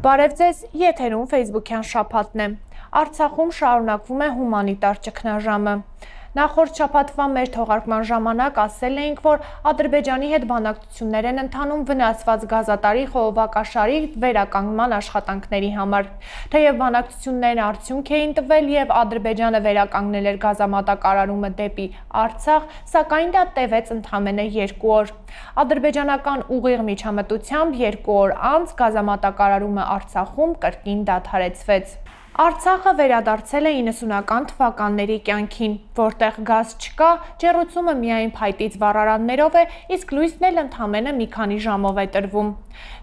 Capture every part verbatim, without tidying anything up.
Բարև ձեզ, եթերում Facebook-յան շաբաթն է։ Արցախում շարունակվում է հումանիտար ճգնաժամը։ Նախորդ շաբաթվա մեր թողարկման ժամանակ ասել էինք, որ Ադրբեջանի հետ բանակցություններ են ընթանում վնասված գազատարի խողովակաշարի վերականգնման աշխատանքների համար։ Թեև բանակցություններն արդյունք էին տվել եւ Ադրբեջանը վերականգնել էր գազամատակարարումը դեպի Արցախ, սակայն դա տևեց ընդամենը երկու օր։ Ադրբեջանական ուղիղ միջամտությամբ երկու օր անց գազամատակարարումը Արցախում կրկին դադարեցվեց։ Արցախը վերադարձել է իննսունական թվականների կյանքին, որտեղ գազ չկա, ջեռուցումը միայն փայտից վառարաններով է, իսկ լույսն էլ ընդամենը մի քանի ժամով է տրվում։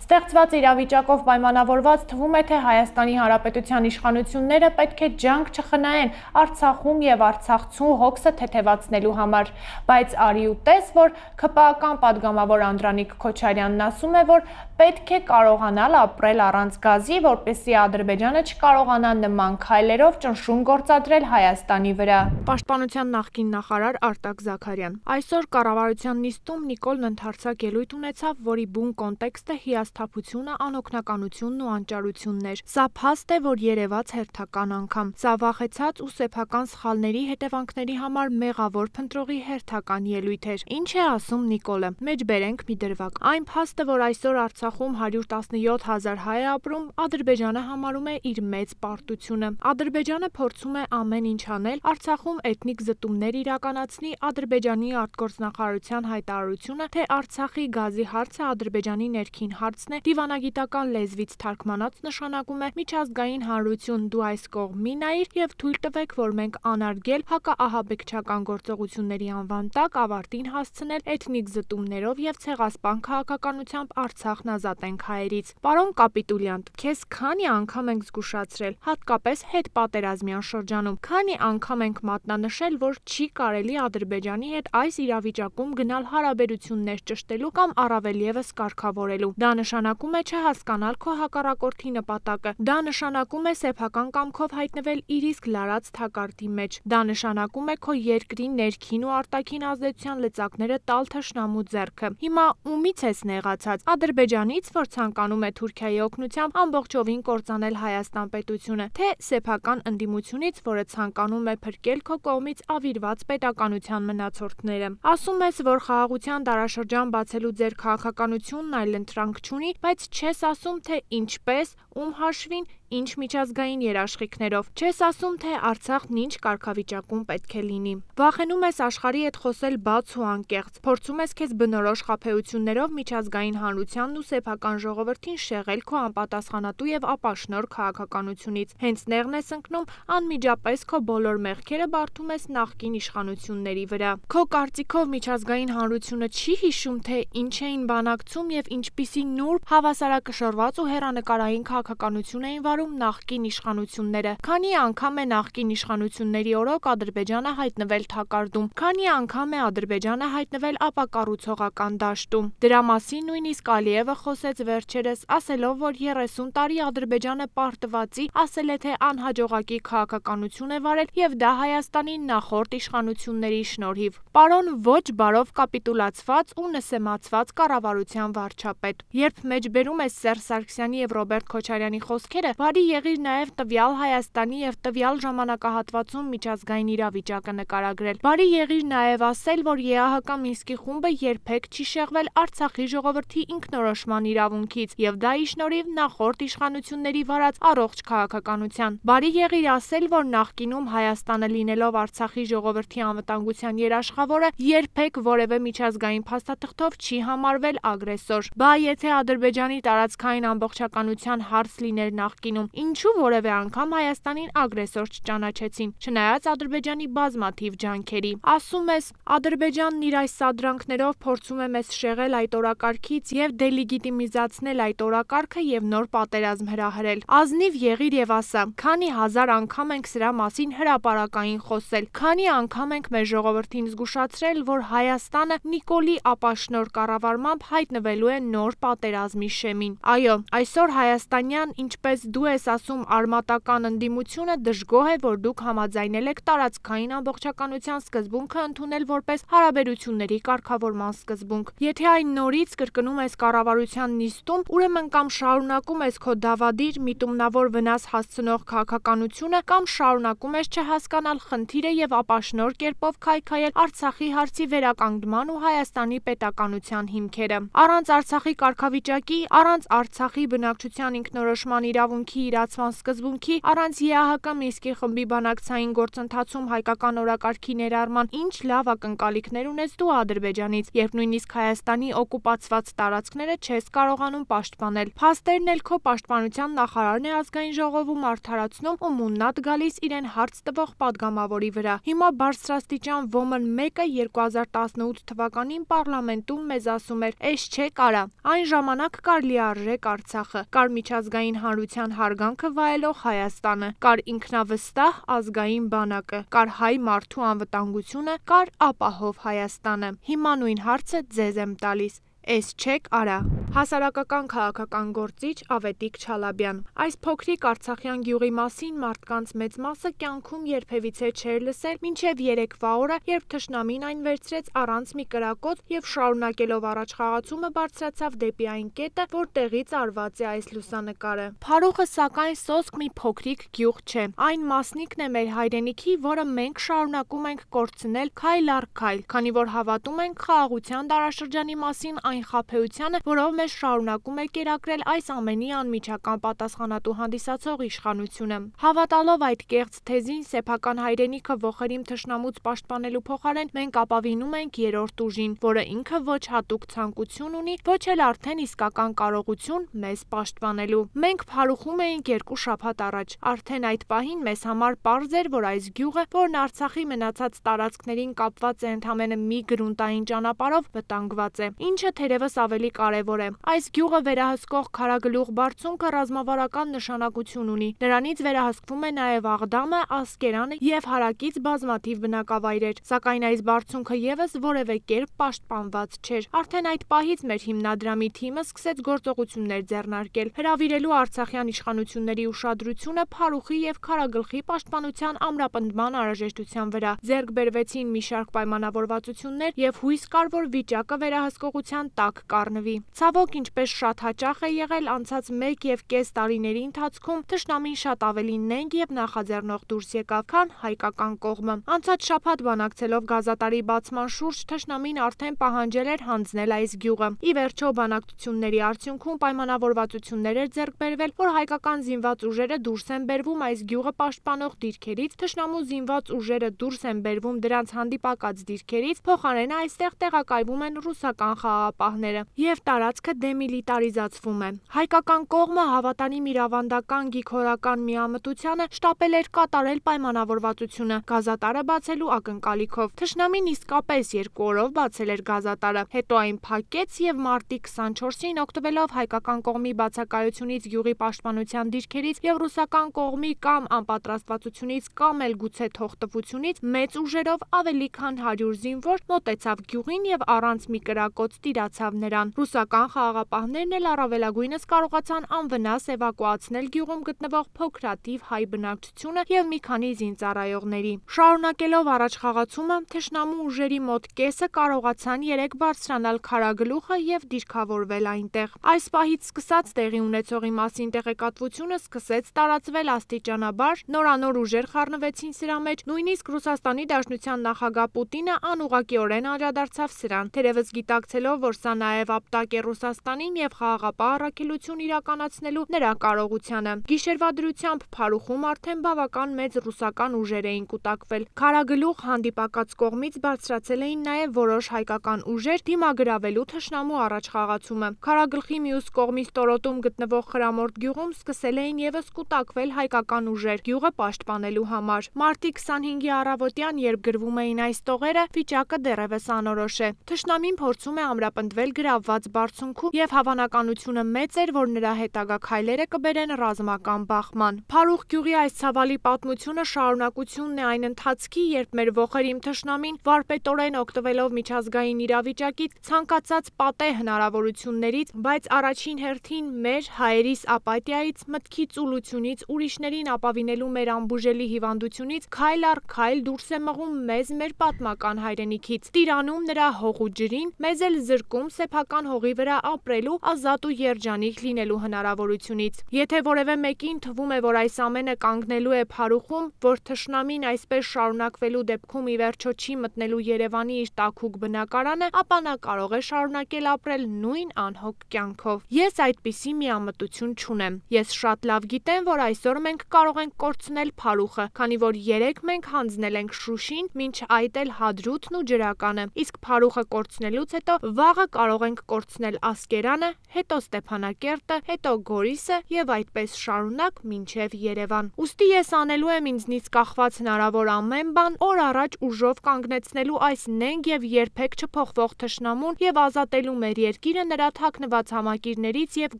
Ստեղծված իրավիճակով պայմանավորված թվում է, թե Հայաստանի Հանրապետության իշխանությունները պետք է ջանք չխնայեն Արցախում եւ արցախցու հոգսը թեթևացնելու համար, բայց արի ու տես, որ ՔՊԱ-ական падգամավոր Անդրանիկ Քոչարյանն ասում է, որ պետք է կարողանալ ապրել առանց գազի, որպեսզի Ադրբեջանը չկարողանա նման քայլերով ճնշում գործադրել Հայաստանի վրա։ Պաշտպանության նախկին նախարար Արտակ Զաքարյան։ Այսօր կառավարության նիստում Նիկոլն ընդհանրացակ ելույթ ունեցավ, որի բուն կոնտեքստը հիասթափությունը, անօգնականությունն ու անճարությունն էր։ Սա փաստ է, որ երևաց հերթական անգամ։ Սա վախեցած ու սեփական սխալների հետևանքների համար մեղավոր փնտրողի հերթական ելույթ էր։ Ինչ է ասում Նիկոլը։ Մեջբերենք մի դրվագ։ Այն փաստը, որ այսօր Արցախում հարյուր տասնյոթ հազար հայ է ապրում, Ադրբեջանը համարում է իր մեծ պարտությունը։ Ադրբեջանը փորձում է ամեն ինչ անել Արցախում էթնիկ զտումներ իրականացնի, Ադրբեջանի արտգործնախարարության հայտարարությունը, թե Արցախի գազի հարցը Ադրբեջանի ներքին հարցն է, դիվանագիտական լեզվից թարգմանած նշանակում է միջազգային հանրություն, դու այս կողմին նայիր եւ թույլ տվեք, որ մենք անարգել հակաահաբեկչական գործողությունների անվան տակ ավարտին հասցնել էթնիկ զտումներով եւ ցեղասպան քաղաքականությամբ Արցախն ազատենք հայերից։ Պարոն կապիտուլյանտ, քեզ քանի անգամ ենք զգուշացրել, հատկապես հետպատերազմյան շրջանում, քանի անգամ ենք մատնանշել, որ չի կարելի Ադրբեջանի հետ այս իրավիճակում գնալ հարաբերություններ ճշտելու կամ առավել եւս կարգավորելու։ Դա նշանակում է չհասկանալ քո հակառակորդի նպատակը։ Դա նշանակում է սեփական կամքով հայտնվել իր իսկ լարած թակարդի մեջ։ Դա նշանակում է քո երկրի ներքին ու արտաքին ազդեցության լծակները տալ թշնամու ձեռքը։ Հիմա ումից ես նեղացած։ Ադրբեջանից, որ ցանկանում է Թուրքիայի օգնությամբ ամբողջովին կործանել Հայաստան պետությունը, թե սեփական ընդդիմությունից, որը ցանկանում է փրկել քո կողմից ավիրված պետականության մնացորդները։ Ասում ես, որ խաղաղության դարաշրջան բացելու ձեր քաղաքականությունն այլ ընտրանք չունի, բայց չես ասում, թե ինչպես, ում հաշվին, ինչ միջազգային երաշխիքներով։ Չես ասում, թե Արցախն ինչ կարգավիճակում պետք է լինի։ Վախենում ես աշխարհի հետ խոսել բաց ու անկեղծ։ Փորձում ես քեզ բնորոշ խաբեություններով միջազգային հանրությանն ու սեփական ժողովրդին շեղել քո անպատասխանատու եւ ապաշնոր քաղաքականությունից։ Հենց նեղն ես ընկնում, անմիջապես քո բոլոր մեղքերը բարդում ես նախկին իշխանությունների վրա։ Քո կարծիքով միջազգային հանրությունը չի հիշում, թե ինչ էին բանակցում եւ ինչպիսի նուրբ, հավասարակշռված ու հեռանկարային քաղաքականություն էին վարում նախկին իշխանությունները։ Քանի անգամ է նախկին իշխանությունների օրոք Ադրբեջանը հայտնվել թակարդում, քանի անգամ է Ադրբեջանը հայտնվել ապակառուցողական դաշտում։ Դրա մասին նույնիսկ Ալիևը խոսեց վերջերս, ասելով, որ երեսուն տարի Ադրբեջանը պարտվածի ասել է, թե անհաջողակի քաղաքականություն է վարել եւ դա Հայաստանի նախորդ իշխանությունների շնորհիվ։ Պարոն ոչ բարով կապիտուլացված ու նսեմացված կառավարության վարչապետ։ Երբ մեջբերում ես Սերժ Սարգսյանի եւ Ռոբերտ Քոչարյանի խոսքերը, բարի եղիր նաեւ տվյալ Հայաստանի եւ տվյալ ժամանակահատվածում միջազգային իրավիճակը նկարագրել։ Բարի եղիր նաեւ ասել, որ ԵԱՀԿ Մինսկի խումբը երբեք չի շեղվել Արցախի ժողովրդի ինքնորոշման իրավունքից եւ դա ի շնորհիվ նախորդ իշխանությունների վարած առողջ քաղաքականության։ Բարի եղիր ասել, որ նախկինում Հայաստանը լինելով Արցախի ժողովրդի անվտանգության երաշխավորը երբեք որևէ միջազգային փաստաթղթով չի համարվել ագրեսոր։ Բա եթե Ադրբեջանի տարածքային ամբողջականության հարց լիներ նախկինում, ինչու որևէ անգամ Հայաստանին ագրեսոր չճանաչեցին, չնայած Ադրբեջանի բազմաթիվ ջանքերի։ Ասում ես, Ադրբեջանն իր այս սադրանքներով փորձում է մեզ շեղել այդ օրակարգից եւ դելեգիտիմիզացնել այդ օրակարգը եւ նոր պատերազմ հրահրել։ Ազնիվ եղիր եւ ասա, քանի հազար անգամ ենք սրա մասին հրապարակային խոսել, քանի անգամ ենք մեր ժողովրդին զգուշացրել, որ Հայաստանը Նիկոլի ապաշնոր կառավարմամբ հայտնվելու է նոր պատերազմի շեմին։ Այո, այսօր հայաստանյան, ինչպես դու դու ես ասում արմատական ընդդիմությունը դժգոհ է, որ դուք համաձայնել եք տարածքային ամբողջականության սկզբունքը ընդունել որպես հարաբերությունների կարգավորման սկզբունք։ Եթե այն նորից կրկնում ես կառավարության նիստում, ուրեմն կամ շարունակում ես քո դավադիր միտումնավոր վնաս հասցնող քաղաքականությունը, կամ շարունակում ես չհասկանալ խնդիրը եւ ապաշնոր կերպով քայքայել Արցախի հարցի վերականգնման ու Հայաստանի պետականության հիմքերը։ Առանց Արցախի կարգավիճակի, առանց Արցախի բնակչության ինքնորոշման իրավունքի իրացման սկզբունքի, առանց ԵԱՀԿ Մինսկի խմբի բանակցային գործընթացում հայկական օրակարգի ներառման ինչ լավ ակնկալիքներ ունես դու Ադրբեջանից, երբ նույնիսկ Հայաստանի օկուպացված տարածքները չես կարողանում պաշտպանել։ Փաստերն էլ քո պաշտպանության նախարարն է ազգային ժողովում արդարացնում ու մուննատ գալիս իրեն հարց տվող падգամավորի վրա։ Հիմա բարձրաստիճան ոմն մեկը երկու հազար տասնութ թվականին պարլամենտում մեզ ասում էր՝ «Էս չէ կարա»։ Այն ժամանակ կար լիարժեք Արցախը, կար միջազգային հանրության հարգանքը վայելող Հայաստանը, կար ինքնավստահ ազգային բանակը, կար հայ մարդու անվտանգությունը, կար ապահով Հայաստանը։ Հիմա նույն հարցը ձեզ եմ տալիս։ Էս չեք արա։ Հասարակական քաղաքական գործիչ Ավետիք Չալաբյան։ Այս փոքրիկ արցախյան գյուղի մասին մարդկանց մեծ մասը կյանքում երբևիցե չէր լսել մինչև երեկվա օրը, երբ թշնամին այն վերցրեց առանց մի կրակոց եւ շարունակելով առաջխաղացումը բարձրացավ դեպի այն կետը, որտեղից արված է այս լուսանկարը։ Փարուխը սակայն սոսկ մի փոքրիկ գյուղ չէ։ Այն մասնիկն է մեր հայրենիքի, որը մենք շարունակում ենք կորցնել քայլ առ քայլ, քանի որ հավատում ենք խաղաղության դարաշրջանի մասին այն խաբեությանը, որով մեզ շարունակում է կերակրել այս ամենի անմիջական պատասխանատու հանդիսացող իշխանությունը։ Հավատալով այդ կեղծ թեզին, սեփական հայրենիքը ողերիմ թշնամուց պաշտպանելու փոխարեն մենք ապավինում ենք երրորդ ուժին, որը ինքը ոչ հատուկ ցանկություն ունի, ոչ էլ արդեն իսկական կարողություն մեզ պաշտպանելու։ Մենք փարուխում էինք երկու շաբաթ առաջ։ Արդեն այդ պահին մեզ համար պարզ էր, որ այս գյուղը, որն Արցախի մնացած տարածքներին կապված է ընդամենը մի գրունտային ճանապարհով, վտանգված է, ինչը թերևս ավելի կարևոր է։ Այս գյուղը վերահսկող քարագլուխ բարձունքը ռազմավարական նշանակություն ունի։ Նրանից վերահսկվում է նաև Աղդամը, Ասկերանը եւ հարակից բազմաթիվ բնակավայրեր, սակայն այս բարձունքը եւս որևէ կերպ պաշտպանված չէր։ Արդեն այդ պահից մեր հիմնադրամի թիմը սկսեց գործողություններ ձեռնարկել, հրավիրելու արցախյան իշխանությունների ուշադրությունը Փարուխի եւ Քարագլխի պաշտպանության ամրապնդման անհրաժեշտության վրա։ Ձեռք բերվեցին մի շարք պայմանավորվածություններ եւ հույս կար, որ վիճակը վերահսկողության տակ կառնվի։ Ցավոք, ինչպես շատ հաճախ է եղել անցած մեկ եւ կես տարիների ընթացքում, թշնամին շատ ավելի նենգ եւ նախաձեռնող դուրս եկավ, քան հայկական կողմը։ Անցած շաբաթ բանակցելով գազատարի բացման շուրջ, թշնամին արդեն պահանջել էր հանձնել այս գյուղը։ Ի վերջո բանակցությունների արդյունքում պայմանավորվածություններ էր ձեռք բերվել, որ հայկական զինված ուժերը դուրս են բերվում այս գյուղը պաշտպանող դիրքերից, թշնամու զինված ուժերը դուրս են բերվում դրանց հանդիպակաց դիրքերից, փոխարենը այստեղ տեղակայվում են ռուսական խաղաղապահները եւ տարածքը դեմիլիտարիզացվում է։ Հայկական կողմը հավատարիմ իր ավանդական գիգորական միամտությանը շտապել էր կատարել պայմանավորվածությունը գազատարը բացելու ակնկալիքով։ Թշնամին իսկապես երկու օրով բացել էր գազատարը, հետո այն փակեց եւ մարտի քսանչորսին օգտվելով հայկական կողմի բացակայությունից, գյուղի պաշտպանության դիրքերից եւ ռուսական կողմի կամ անպատրաստվածությունից կամ էլ գուցե թողտվությունից մեծ ուժերով ավելի քան հարյուր զինվոր մոտեցավ գյուղին եւ առանց մի կրակոց տիրացավ նրան։ Ռուսական խաղաղապահներն էլ առավելագույնս կարողացան անվնաս էվակուացնել գյուղում գտնվող փոքրաթիվ հայ բնակչությունը եւ մի քանի զինծառայողների։ Շարունակելով առաջխաղացումը, թշնամու ուժերի մոտ կեսը կարողացան երեք բարձրանալ Քարագլուխը եւ դիրքավորվել այնտեղ։ Այս պահից սկսած տեղի ունեցողի մասին տեղեկատվությունը սկսեց տարածվել աստիճանաբար, նորանոր ուժեր խառնվեցին սրա մեջ, նույնիսկ Ռուսաստանի Դաշնության նախագահ Պուտինը անուղղակիորեն անդրադարձավ սրան, թերևս գիտակցելով, որ սա նաև ապտակ է Ռուսաստանին եւ խաղաղապահ առաքելություն իրականացնելու նրա կարողությանը։ Գիշերվա դրությամբ Փարուխում արդեն բավական մեծ ռուսական ուժեր էին կուտակվել։ Քարագլուխ հանդիպակաց կողմից բարձրացել էին նաև որոշ հայկական ուժեր դիմագրավելու թշնամու առաջխաղացումը։ Քարագլխի մյուս կողմի ստորոտում գտնվող Խրամորդ գյուղում սկսել էին եւս կուտակվել հայկական ուժեր գյուղը պաշտպանելու համար։ Մարտի քսանհինգի առավոտյան, երբ գրվում էին այս տողերը, վիճակը դեռևս անորոշ է։ Թշնամին փորձում է ամրապնդել գնդվել գրավված բարձունքում եւ հավանականությունը մեծ էր, որ նրա հետագա քայլերը կբերեն ռազմական բախման։ Փարուխ գյուղի այս ցավալի պատմությունը շարունակությունն է այն ընթացքի, երբ մեր ողերիմ թշնամին վարպետորեն օգտվելով միջազգային իրավիճակից ցանկացած պատե հնարավորություններից, բայց առաջին հերթին մեր հայերիս ապաթիայից, մտքի ծուլությունից, ուրիշներին ապավինելու մեր անբուժելի հիվանդությունից քայլ առ քայլ դուրս է մղում մեզ մեր պատմական հայրենիքից, տիրանում նրա հողու ջրին, մեզ էլ զրկում սեփական հողի վրա ապրելու, ազատ ու երջանիկ լինելու հնարավորությունից։ Եթե որևէ մեկին թվում է, որ այս ամենը կանգնելու է Փարուխում, որ թշնամին այսպես շարունակվելու դեպքում ի վերջո չի մտնելու Երևանի իր տաքուկ բնակարանը, ապա նա կարող է շարունակել ապրել նույն անհոգ կյանքով։ Ես այդպիսի միամտություն չունեմ։ Ես շատ լավ գիտեմ, որ այսօր մենք կարող ենք կորցնել Փարուխը, քանի որ երեկ մենք հանձնել ենք Շուշին, մինչ այդ էլ Հադրութն ու Ջրականը, իսկ Փարուխը կորցնելուց հետո վաղը կարող ենք կորցնել Ասկերանը, հետո Ստեփանակերտը, հետո Գորիսը եւ այդպես շարունակ մինչեւ Երևան։ Ուստի ես անելու եմ ինձնից կախված հնարավոր ամեն բան օր առաջ ուժով կանգնեցնելու այս նենգ եւ երբեք չփոխվող թշնամուն եւ ազատելու մեր երկիրը նրա թաքնված համակիրներից եւ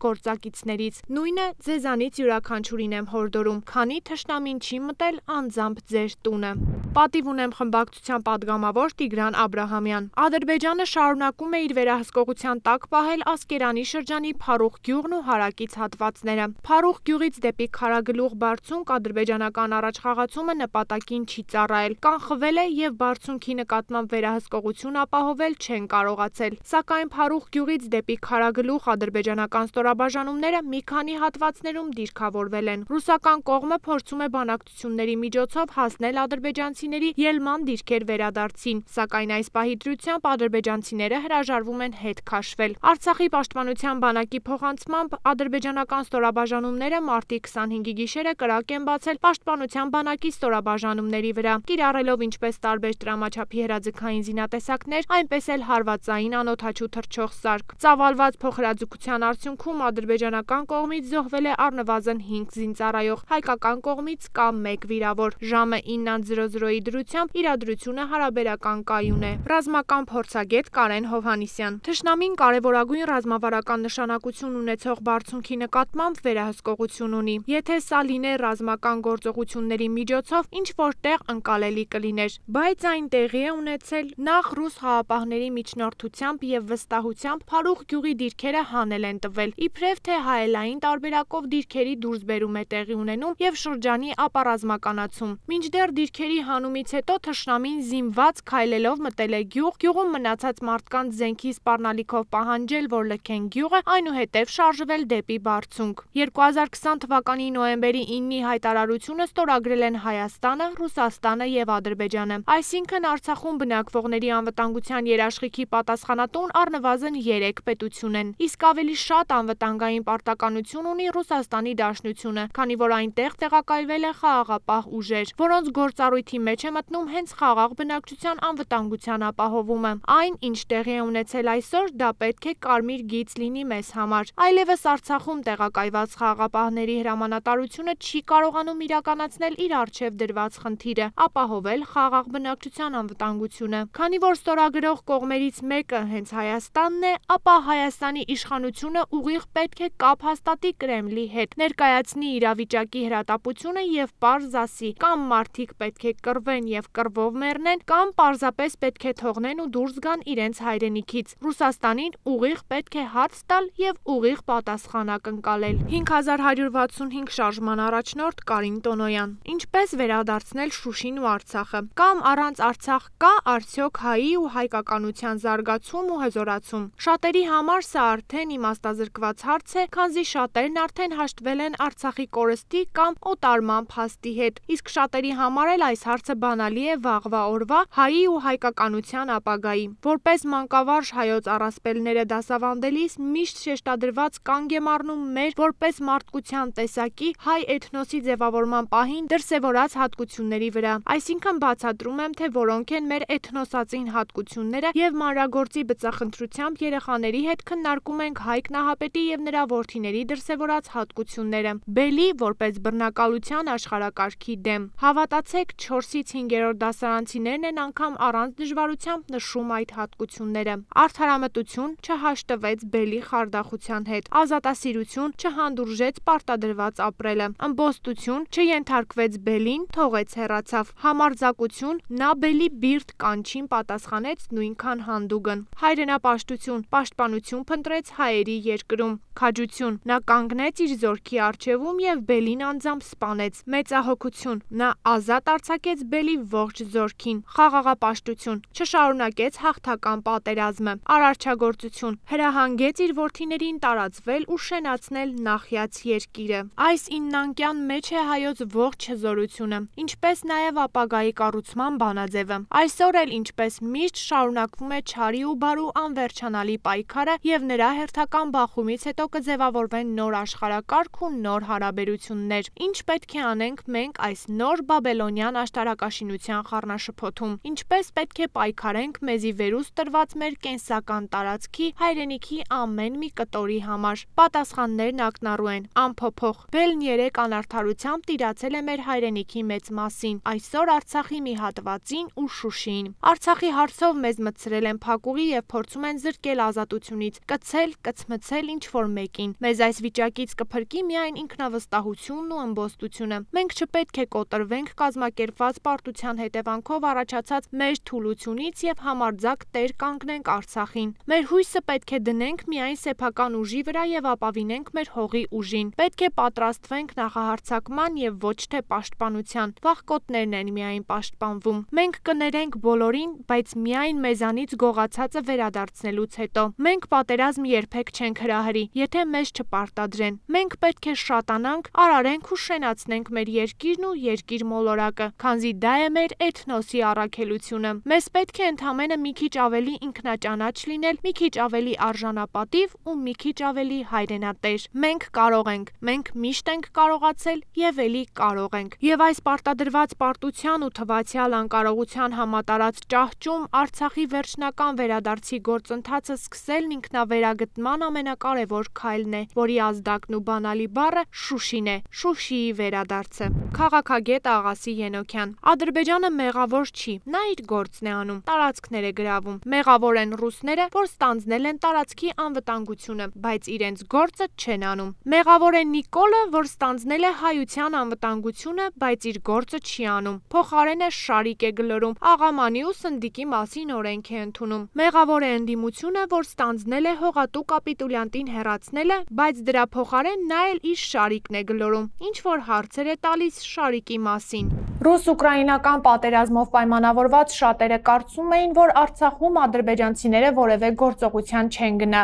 գործակիցներից։ Նույնը ձեզանից յուրաքանչյուրին եմ հորդորում, քանի թշնամին չի մտել անձամբ ձեր տունը։ Պատիվ ունեմ խմբակցության падգամավոր Տիգրան Աբրահամյան։ Ադրբեջանը շարունակում է իր վերահսկողության տակ պահել Ասկերանի շրջանի Փարուխ գյուղն ու հարակից հատվածները։ Փարուխ գյուղից դեպի Քարագլուղ բարձունք ադրբեջանական առաջխաղացումը նպատակին չի ծառայել, կանխվել է եւ բարձունքի նկատմամբ վերահսկողություն ապահովել չեն կարողացել։ Սակայն Փարուխ գյուղից դեպի Քարագլուղ ադրբեջանական ստորաբաժանումները մի քանի հատվածներում դիրքավորվել են։ Ռուսական կողմը փորձում է բանակցությունների միջոցով հասնել ադրբեջանցիների ելման դիրքեր վերադարձին, սակայն այս պահի դրությամբ ադրբեջանցիները հրաժարվում են հետ քաշվել։ Արցախի պաշտպանության բանակի փոխանցմամբ ադրբեջանական ստորաբաժանումները մարտի քսանհինգի գիշերը կրակ են բացել պաշտպանության բանակի ստորաբաժանումների վրա, կիրառելով ինչպես տարբեր տրամաչափի հրաձգային զինատեսակներ, այնպես էլ հարվածային անօդաչու թռչող սարք։ Ծավալված փոխհրաձգության արդյունքում ադրբեջանական կողմից զոհվել է առնվազն հինգ զինծառայող, հայկական կողմից կա մեկ վիրավոր։ Ժամը ինը զրո զրոյի դրությամբ իրադրությունը հարաբերական կայուն է։ Ռազմական փորձագետ Կարեն Հովհաննիսյան։ Թշնամին կարևորագույն ռազմավարական նշանակություն ունեցող բարձունքի նկատմամբ վերահսկողություն ունի։ Եթե սա լիներ ռազմական գործողությունների միջոցով, ինչ որտեղ ընկալելի կլիներ, բայց այն տեղի է ունեցել նախ ռուս խաղապահների միջնորդությամբ եւ վստահությամբ Փարուխ գյուղի դիրքերը հանել են տվել, իբրև թե հայելային տարբերակով դիրքերի դուրսբերում է տեղի ունենում եւ շրջանի ապառազմականացում։ Մինչդեռ դիրքերի հանումից հետո թշնամին զինված քայլելով մտել է գյուղ, գյուղում մնացած մարդկանց զենքի սպառնալիքով պահանջել, որ լքեն գյուղը, այնուհետև շարժվել դեպի բարձունք։ երկու հազար քսան թվականի նոյեմբերի իննի հայտարարությունը ստորագրել են Հայաստանը, Ռուսաստանը եւ Ադրբեջանը։ Այսինքն Արցախում բնակվողների անվտանգության երաշխիքի պատասխանատուն առնվազն երեք պետություն են, իսկ ավելի շատ անվտանգային պարտականություն ունի Ռուսաստանի Դաշնությունը, քանի որ այնտեղ տեղակայվել է խաղաղապահ ուժեր, որոնց գործառույթի մեջ է մտնում հենց խաղաղ բնակչության անվտանգության ապահովումը։ Այն, ինչ տեղի է ունեցել այսօր, դա պետք է կարմիր գիծ լինի մեզ համար։ Այլևս Արցախում տեղակայված խաղաղապահների հրամանատարությունը չի կարողանում իրականացնել իր առջև դրված խնդիրը՝ ապահովել խաղաղ բնակչության անվտանգությունը։ Քանի որ ստորագրող կողմերից մեկը հենց Հայաստանն է, ապա Հայաստանի իշխանությունը ուղիղ պետք է կապ հաստատի Կրեմլի հետ, ներկայացնի իրավիճակի հրատապությունը եւ պարզ ասի՝ կամ մարդիկ պետք է կռվեն եւ կռվով մեռնեն, կամ պարզապես պետք է թողնեն ու դուրս գան իրենց հայրենիքից։ Ռուսաստանին ուղիղ պետք է հարց տալ եւ ուղիղ պատասխանակ ընկալել։ հինգ հազար հարյուր վաթսունհինգ շարժման առաջնորդ Կարին Տոնոյան։ Ինչպես վերադարձնել Շուշին ու Արցախը։ Կամ առանց Արցախ կա արդյոք հայի ու հայկականության զարգացում ու հզորացում։ Շատերի համար սա արդեն իմաստազրկված հարց է, քանզի շատերն արդեն հաշտվել են Արցախի կորստի կամ օտարման փաստի հետ, իսկ շատերի համար էլ այս հարցը բանալի է վաղվա օրվա հայի ու հայկականության ապագայի։ Որպես մանկավարժ հայոց առասպելները դասավանդելիս միշտ շեշտադրված կանգ եմ առնում մեր որպես մարդկության տեսակի հայ էթնոսի ձևավորման պահին դրսևորած հատկությունների վրա, այսինքն բացատրում եմ, թե որոնք են մեր էթնոսածին հատկությունները եւ մանրագործի բծախնդրությամբ երեխաների հետ քննարկում ենք Հայկ Նահապետի եւ նրա որդիների դրսևորած հատկությունները։ Բելի որպես բռնակալության աշխարհակարգի դեմ։ Հավատացեք, չորսից հինգերորդ դասարանցիներն են անգամ առանց դժվարությամբ նշում այդ հատկությունները։ Արդ Արդարամտություն չհաշտվեց բելի խարդախության հետ, ազատասիրություն չհանդուրժեց պարտադրված ապրելը, ըմբոստություն չենթարկվեց բելին, թողեց հեռացավ, համարձակություն նա բելի բիրտ կանչին պատասխանեց նույնքան հանդուգն, հայրենապաշտություն, պաշտպանություն փնտրեց հայերի երկրում, քաջություն նա կանգնեց իր զորքի առջևում եւ բելին անձամբ սպանեց, մեծահոգություն նա ազատ արձակեց բելի ողջ զորքին, խաղաղապաշտություն չշարունակեց հաղթական պատերազմը, արարչագործություն հրահանգեց իր որդիներին տարածվել ու շենացնել նախյաց երկիրը։ Այս իննանկյան մեջ է հայոց ողջ հզորությունը, ինչպես նաև ապագայի կառուցման բանաձևը։ Այսօր էլ ինչպես միշտ շարունակվում է չարի ու բարու անվերջանալի պայքարը եւ նրա հերթական բախումից հետո կձևավորվեն նոր աշխարհակարգ ու նոր հարաբերություններ։ Ինչ պետք է անենք մենք այս նոր բաբելոնյան աշտարակաշինության խառնաշփոթում, ինչպես պետք է պայքարենք մեզի վերուս տրված մեր կենսական տարածքի հայրենիքի ամեն մի կտորի համար։ Պատասխաններն ակնառու են, անփոփոխ։ Բելն երեք անարդարությամբ տիրացել է մեր հայրենիքի մեծ մասին, այսօր Արցախի մի հատվածին ու Շուշիին։ Արցախի հարցով մեզ մտցրել են փակուղի եւ փորձում են զրկել ազատությունից, կցել, կցմցել ինչ-որ մեկին։ Մեզ այս վիճակից կփրկի միայն ինքնավստահությունն ու ըմբոստությունը։ Մենք չպետք է կոտրվենք կազմակերպված պարտության հետևանքով առաջացած մեր թուլությունից եւ համարձակ տեր կանգնենք Արցախին։ Մեր հույսը պետք է դնենք միայն սեփական ուժի վրա եւ ապավինենք մեր հողի ուժին։ Պետք է պատրաստվենք նախահարձակման եւ ոչ թե պաշտպանության։ Վախկոտներն են միայն պաշտպանվում։ Մենք կներենք բոլորին, բայց միայն մեզանից գողացածը վերադարձնելուց հետո։ Մենք պատերազմ երբեք չենք հրահրի, եթե մեզ չպարտադրեն։ Մենք պետք է շատանանք, արարենք ու շենացնենք մեր երկիրն ու երկիր մոլորակը, քանզի դա է մեր էթնոսի առաքելությունը։ Մեզ պետք է ընդամենը մի քիչ ավելի ինքնաճանաչ լինել, մի քիչ ավելի արժանապատիվ ու մի քիչ ավելի հայրենատեր։ Մենք կարող ենք, մենք միշտ ենք կարողացել եւ ելի կարող ենք։ Եվ այս պարտադրված պարտության ու թվացial անկարողության համատարած ճահճում Արցախի վերջնական վերադարձի գործընթացը սկսելն ինքնավերագտման ամենակարևոր քայլն է, որի ազդակն ու բանալի բառը Շուշին է, Շուշիի վերադարձը։ Քաղաքագետ Աղասի Ենոքյան։ Ադրբեջանը մեղավոր չի, նա իր գործն է անում, տարածքներ է գրավում։ Մեղավոր են ռուսները, որ ստանձնել են տարածքի անվտանգությունը, բայց իրենց գործը չեն անում։ Մեղավոր է Նիկոլը, որ ստանձնել է հայության անվտանգությունը, բայց իր գործը չի անում։ Փոխարենը շարիկ է գլորում, աղամանի ու սնդիկի մասին օրենք է ընդունում։ Մեղավոր է ընդդիմությունը, որ ստանձնել է հողատու կապիտուլյանտին հեռացնելը, բայց դրա փոխարեն նա էլ իր շարիկն է գլորում, ինչ որ հարցեր է տալիս շարիկի մասին։ Ռուս-ուկրաինական պատերազմով պայմանավորված շատերը կարծում էին, որ Արցախում ադրբեջանցիները որևէ գործողության չեն գնա,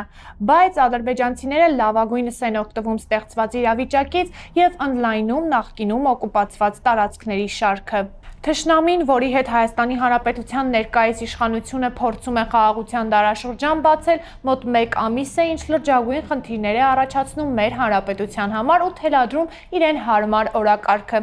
բայց ադրբեջանցիները լավագույնս են օգտվում ստեղծված իրավիճակից եւ ընդլայնում նախկինում օկուպացված տարածքների շարքը։ Թշնամին, որի հետ Հայաստանի Հանրապետության ներկայիս իշխանությունը փորձում է խաղաղության դարաշրջան բացել, մոտ մեկ ամիս է, ինչ լրջագույն խնդիրներ է առաջացնում մեր հանրապետության համար ու թելադրում իրեն հարմար օրակարգը։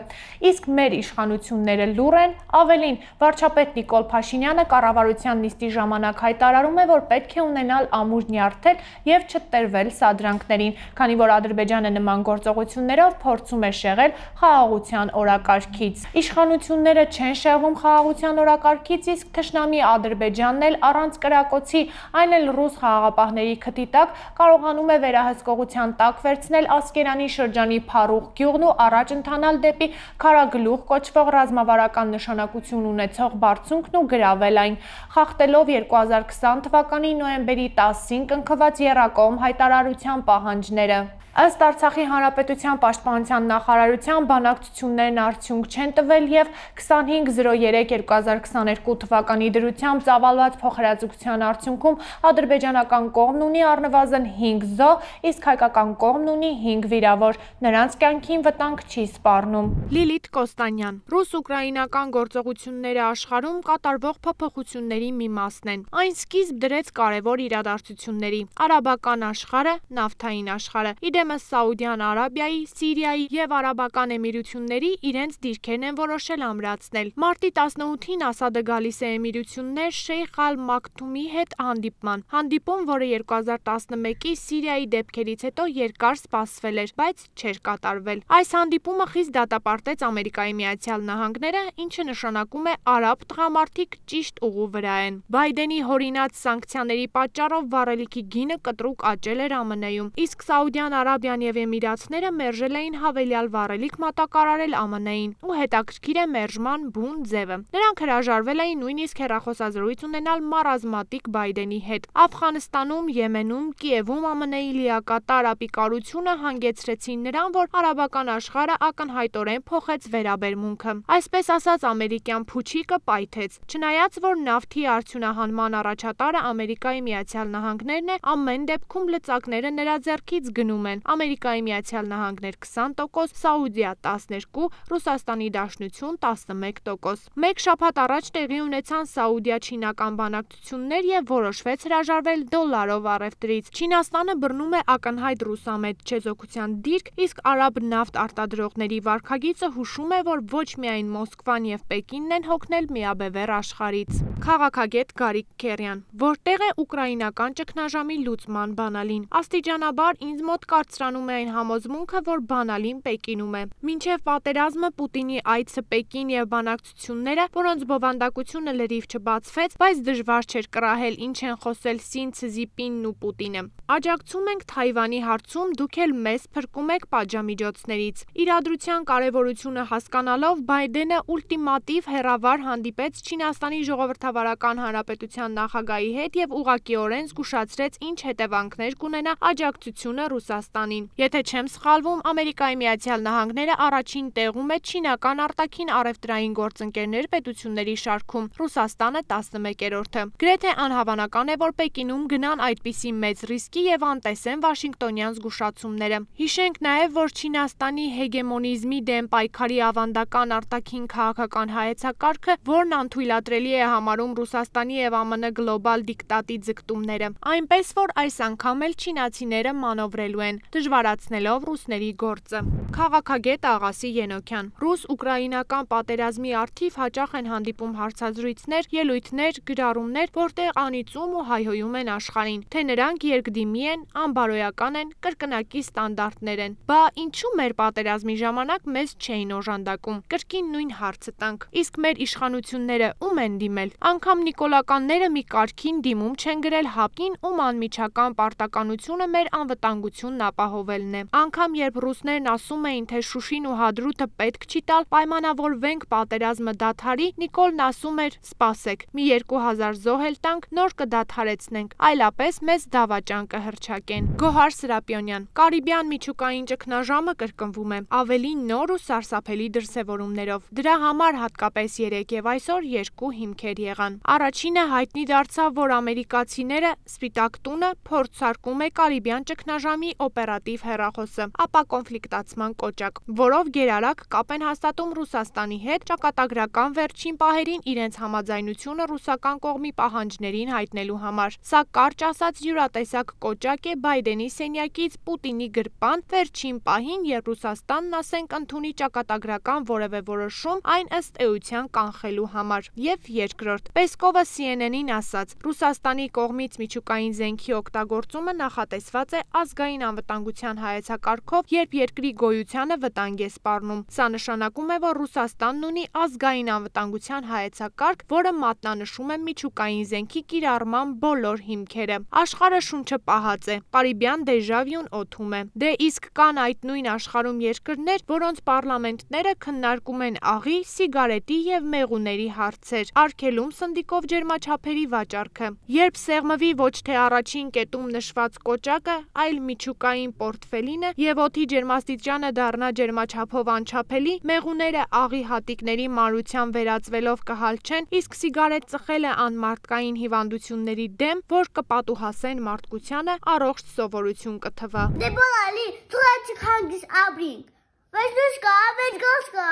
Իսկ մեր իշխանությունները լուռ են, ավելին, վարչապետ Նիկոլ Փաշինյանը կառավարության նիստի ժամանակ հայտարարում է, որ պետք է ունենալ ամուր նյարդել եւ չտրվել սադրանքներին, քանի որ Ադրբեջանը նման գործողություններով փորձում է շեղել խաղաղության օրակարգից։ Իշխանությունները չեն շեղվում խաղաղության օրակարգից, իսկ թշնամի Ադրբեջանն էլ առանց կրակոցի, այն էլ ռուս խաղաղապահների քթի տակ կարողանում է վերահսկողության տակ վերցնել Ասկերանի շրջանի Փարուխ գյուղն ու առաջ ընթանալ դեպի Քարագլուխ կոչվող ռազմավարական նշանակություն ունեցող բարձունքն ու գրավել այն, խախտելով երկու հազար քսան թվականի նոյեմբերի տասին կնքված եռակողմ հայտարարության պահանջները։ Ըստ Արցախի Հանրապետության պաշտպանության նախարարության բանակցություններն արդյունք չեն տվել եւ քսանհինգ զրո երեք երկու հազար քսաներկու թվականի դրությամբ ծավալված փոխհրաձգության արդյունքում ադրբեջանական կողմն ունի առնվազն հինգ զոհ, իսկ հայկական կողմն ունի հինգ վիրավոր։ Նրանց կյանքին վտանգ չի սպառնում։ Լիլիթ Կոստանյան։ Ռուս-ուկրաինական գործողությունները աշխարհում կատարվող փոփոխությունների մի մասն են։ Այն սկիզբ դրեց կարևոր իրադարձությունների՝ արաբական աշխարհը, նավթային աշխարհը։ Իդեպ Այժմս Սաուդյան Արաբիայի, Սիրիայի եւ Արաբական Էմիրությունների իրենց դիրքերն են որոշել ամրացնել։ Մարտի տասնութին Ասադը գալիս է Էմիրություններ Շեյխ Ալ Մաքթումի հետ հանդիպման։ Հանդիպում, որը երկու հազար տասնմեկի Սիրիայի դեպքերից հետո երկար սպասվել էր, բայց չէր կատարվել։ Այս հանդիպումը խիստ դատապարտեց Ամերիկայի Միացյալ Նահանգները, ինչը նշանակում է արաբ տղամարդիկ ճիշտ ուղու վրա են։ Բայդենի հորինած սանկցիաների պատճառով վառելիքի գինը կտրուկ աճել էր ԱՄՆ-ում, իսկ Սաուդյան Արաբիան եւ Էմիրացները մերժել էին հավելյալ վառելիք մատակարարել ԱՄՆ-ին, ու հետաքրքիր է մերժման բուն ձևը։ Նրանք հրաժարվել էին նույնիսկ հեռախոսազրույց ունենալ մարազմատիկ Բայդենի հետ։ Աֆղանստանում, Եմենում, Կիևում ԱՄՆ-ի լիակատար ապիկարությունը հանգեցրեցին նրան, որ արաբական աշխարհը ակնհայտորեն փոխեց վերաբերմունքը։ Այսպես ասած, ամերիկյան փուչիկը պայթեց։ Չնայած որ նավթի արդյունահանման առաջատարը Ամերիկայի Միացյալ Նահանգներն է, ամեն դեպքում լծակները նրա ձեռքից գնում են։ Ամերիկայի Միացյալ Նահանգներ քսան տոկոս, Սաուդիա տասներկու, Ռուսաստանի Դաշնություն տասնմեկ տոկոս։ Մեկ շաբաթ առաջ տեղի ունեցան Սաուդիա-չինական բանակցություններ եւ որոշվեց հրաժարվել դոլարով առևտրից։ Չինաստանը բռնում է ակնհայտ ռուսամետ չեզոքության դիրք, իսկ արաբ նավթ արտադրողների վարքագիծը հուշում է, որ ոչ միայն Մոսկվան եւ Պեկինն են հոգնել միաբևեռ աշխարհից։ Քաղաքագետ Գարիկ Քերյան, որտեղ է ուկրաինական ճգնաժամի լուծման բանալին։ Աստիճանաբար ինձ մոտ կարծրանում է այն համոզմունքը, որ բանալին Պեկինում է։ Մինչև պատերազմը Պուտինի այցը Պեկին եւ բանակցությունները, որոնց բովանդակությունը լրիվ չբացվեց, բայց դժվար չէր կռահել ինչ են խոսել Սին Ցզիպինն ու Պուտինը։ Աջակցում ենք Թայվանի հարցում, դուք էլ մեզ փրկում եք պատժամիջոցներից։ Իրադրության կարևորությունը հասկանալով Բայդենը ուլտիմատիվ հերավար հանդիպեց Չինաստանի Ժողովրդավարական Հանրապետության նախագահի հետ եւ ուղղակիորեն զգուշացրեց ինչ հետևանքներ կունենա աջակցությունը Ռուսաստանին։ Եթե չեմ սխալվում, Ամերիկայի Միացյալ Նահանգները առաջին տեղում է չինական արտաքին առևտրային գործընկերներ պետությունների շարքում, Ռուսաստանը տասնմեկերորդը։ Գրեթե անհավանական է, որ Պեկինում գնան այդպիսի մեծ ռիսկի եւ անտեսեն Վաշինգտոնյան զգուշացումները։ Հիշենք նաեւ, որ Չինաստանի հեգեմոնիզմի դեմ պայքարի ավանդական արտաքին քաղաքական հայեցակարգը, որն անթույլատրելի է համարում Ռուսաստանի եւ ԱՄՆ գլոբալ դիկտատի ձգտումները, այնպես որ այս անգամ էլ չինացիները մանևրելու են, դժվարացնելով ռուսների գործը։ Քաղաքագետ Աղասի Ենոքյան, ռուս-ուկրաինական պատերազմի առթիվ հաճախ են հանդիպում հարցազրույցներ, ելույթներ, գրառումներ, որտեղ անիծում ու հայհոյում են աշխարհին, թե նրանք երկդիմի են, անբարոյական են, կրկնակի ստանդարտներ են։ Բա ինչու մեր պատերազմի ժամանակ մեզ չէին օժանդակում։ Կրկին նույն հարցը տանք։ Իսկ մեր իշխանությունները ում են դիմել։ Անգամ նիկոլականները մի կարգին դիմում չեն գրել ՀԱՊԿ-ին, ում անմիջական պարտականությունը մեր անվտանգությունն ապահովելն է։ Անգամ երբ ռուսներն ասում էին, թե Շուշին ու Հադրութը պետք չի տալ, պայմանավորվենք պատերազմը դադարի, Նիկոլն ասում էր՝ սպասեք, մի երկու հազար զոհ էլ տանք, նոր կդադարեցնենք, այլապես մեզ դավաճան կհռչակեն։ Գոհար Սրապիոնյան, Կարիբյան միջուկային ճգնաժամը կրկնվում է, ավելի նոր ու սարսափելի դրսևորումներով։ Դրա համար հատկապես երեկ եւ այսօր երկու հիմքեր եղան։ Առաջինը հայտնի դարձավ, որ ամերիկացիները Սպիտակ տունը փորձարկում է Կարիբյան ճգնաժամի օպերատիվ հեռախոսը, ապա կոնֆլիկտացման կոճակ, որով գերարագ կապ են հաստատում Ռուսաստանի հետ, ճակատագրական վերջին պահերին իրենց համաձայնությունը ռուսական կողմի պահանջներին հայտնելու համար։ Սա կարճ ասած յուրատեսակ կոճակ է Բայդենի սենյակից Պուտինի գրպան վերջին պահին, երբ Ռուսաստանն ասենք ընդունի ճակատագրական որևէ որոշում այն ըստ էության կանխելու համար։ Եվ երկրորդ, Պեսկովը C N N-ին ասաց, Ռուսաստանի կողմից միջուկային զենքի օգտագործումը նախատեսված է ազգային անվտանգության հայեցակարգով, երբ երկրի գոյությանը վտանգ է սպառնում։ Սա նշանակում է, որ Ռուսաստանն ունի ազգային անվտանգության հայեցակարգ, որը մատնանշում է միջուկային զենքի կիրառման բոլոր հիմքերը։ Աշխարհը շունչը պահած է, Կարիբյան դեժավյուն օդում է։ Դե իսկ կան այդ նույն աշխարհում երկրներ, որոնց պարլամենտները քննարկում են աղի, սիգարետի եւ մեղուների հարցեր, արգելում սնդիկով ջերմաչափերի վաճառքը։ Երբ սեղմվի ոչ թե առաջին կետում նշված կոճակը, այլ միջուկային պորտֆելինը եւ օդի ջերմաստիճանը դառնա ջերմաչափով անչափելի, մեղուները աղի հատիկների մանրության վերածվելով կհալչեն, իսկ սիգարետ ծխելը անմարդկային հիվանդությունների դեմ, որ կպատուհասեն մարդկությանը, առողջ սովորություն կթվա։ Դե բալի, թույլաց հանգիս ապրինք։ Վեճ դուշ կա, վեճ գոս կա,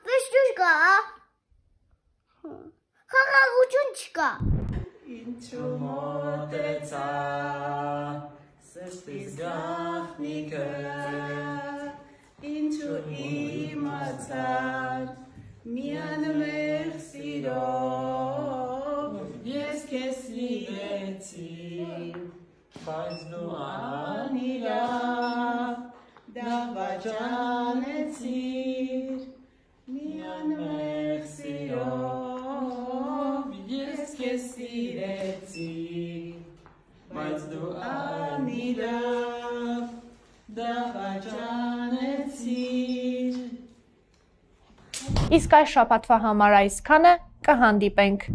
վեճ դուշ կա։ Խաղաղություն չկա։ Ինչու մոտեցա, Սրտիս գաղտնիքը ինչու իմացար միան մեր սիրով ես քեզ սիրեցի բայց դու անիրավ դավաճանեցիր միան մեր սիրով ես քեզ սիրեցի բայց դու անիրավ դավաճանեցիր Իսկ այս շաբաթվա համար այսքանը կհանդիպենք